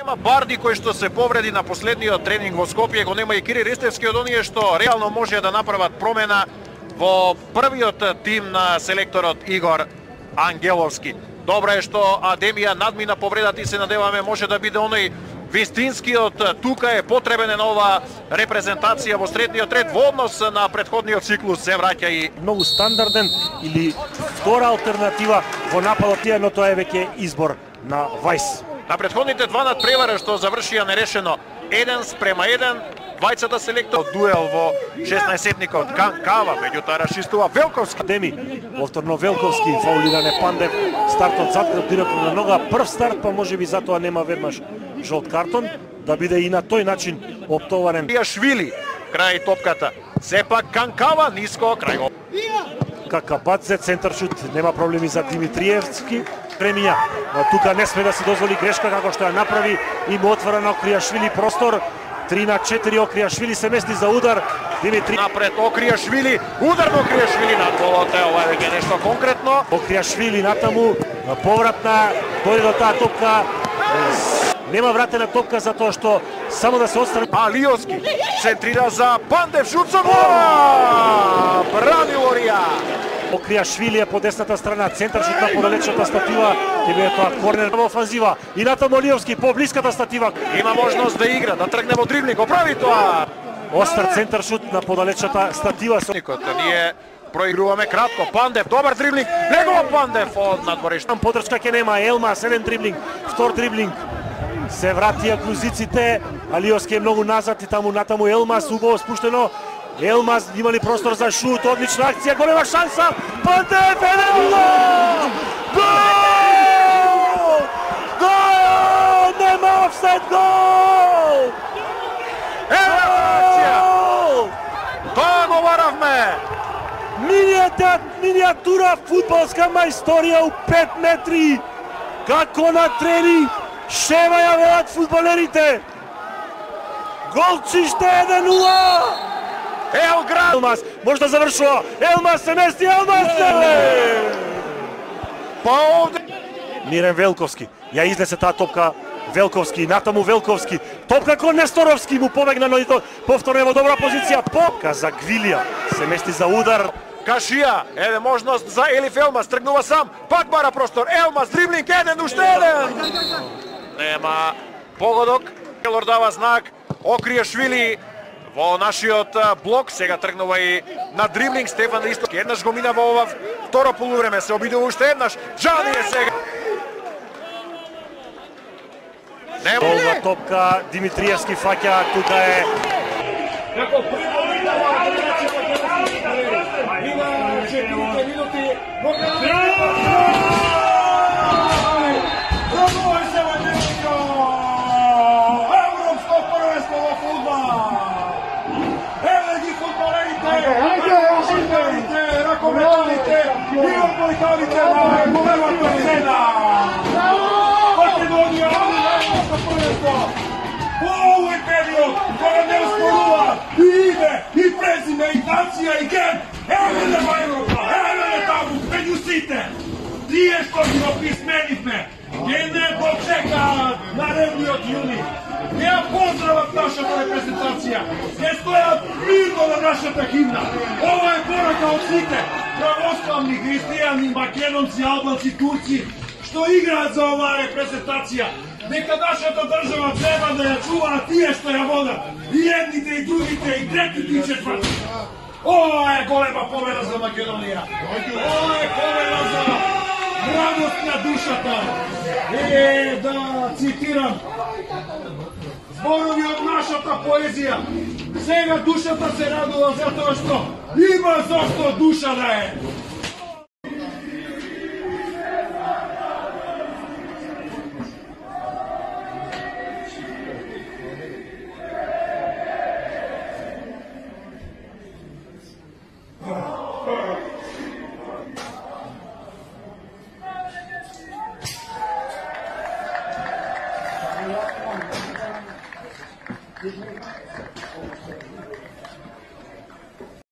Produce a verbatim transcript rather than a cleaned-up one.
Нема Барди кој што се повреди на последниот тренинг во Скопје, го нема и Кири Ристевски од оние што реално може да направат промена во првиот тим на селекторот Игор Ангеловски. Добро е што Адемија надмина повредата и се надеваме може да биде оној вистинскиот, тука е потребен е нова репрезентација во средниот ред во однос на претходниот циклус се враќа и многу стандарден или втора алтернатива во нападот, но тоа е веќе избор на Вајс. На претходните два надпревара што завршија нерешено еден спрема еден, двајцата селектор дуел во шеснаесетникот Канкава, меѓутоа расчистува Велковски. Деми, повторно Велковски, фаулиране Пандев, стартот заткнат директно на нога, прв старт, па може би затоа нема веднаш жолт картон, да биде и на тој начин оптоварен. Швили, крај топката, сепак Канкава, ниско, крај. Какабадзе, центар шут, нема проблеми за Димитриевски. Премиња, но тука не сме да се дозволи грешка како што ја направи и му отвара на Окријашвили простор. три на четири Окријашвили се мести за удар. Димитри напред Окријашвили, удар на Окријашвили над голот, ево е веќе нешто конкретно. Окријашвили натаму, повратна, дојде до таа топка. Нема вратена топка затоа што само да се отстрани. Алиовски центрира за Пандев, шут со гол! Брави Лорија! Окријашвили е по десната страна, центар шут на подалечната статива, ќе биде тоа корнер во офанзива. И натаму Алиовски по блиската статива. Има можност да игра, да тргне во дриблинг, оправи тоа. Остар центар шут на подалечната статива. Ние проигруваме кратко. Пандев, добар дриблинг. Негова Пандев од надворешта. Подршка ќе нема. Елмас, еден дриблинг, втор дриблинг. Се вратија клузиците. Алиовски е многу назад и таму натаму Елмас убаво спуштено. Елмас имали простор за шут, одлична акција, голема шанса. Пандев, еден гол! Гол! Гол! Нема офсайд, гол! Ева акција! Тоа го варавме! Минијатура фудбалска мајсторија у пет метри. Како на тренинг, шева ја велат фудбалерите. Голчиште еден нула. Елград! Елмас може да завршува. Елмас се мести, Елмас се! Па овде Мирен Велковски. Ја изнесе таа топка Велковски, натаму Велковски. Топка кон Несторовски му побегна, но и то повторно во добра позиција. Попка за Гвилија. Се мести за удар. Кашија, еде можност за Елиф Елмас, тргнува сам, пак бара простор. Елмас, дриблинг, еден, уште еден. Нема погодок. Келор дава знак. Окријашвили во нашиот блок, сега тргнува и на дриблинг Стефан Ристовски. Еднаш го мина во ова второ полувреме, се обидува уште еднаш. Джани е сега. Долга топка, Димитриевски фаќа, тука е. Како прво видава има четирите минути. Пробува се во Немеко. Европско првенство во фудбал. Еве ги фудбалерите, фудбалерите, ракометаните и одбојкавите на големата сцена. Македонија, европско првенство. Во овој период, кога не успорува и име, и презиме, и нација, и ген, еве нема Европа, еве не таму, меѓу сите. Тие што ги описменивме, ке не го чекаат наредниот јуни. Не ја поздрават нашата репрезентација, не стојат мирно на нашата химна. Ова е порака од сите, православни, христијани, македонци, албанци, турци, што играат за оваа репрезентација. Нека нашата држава треба да ја чува тие што ја водат. И едните, и другите, и третите, и четврти. Ова е голема победа за Македонија. Ова е победа за радост на душата. Е, да цитирам зборови од нашата поезија. Сега душата се радува затоа што има зошто душа да е.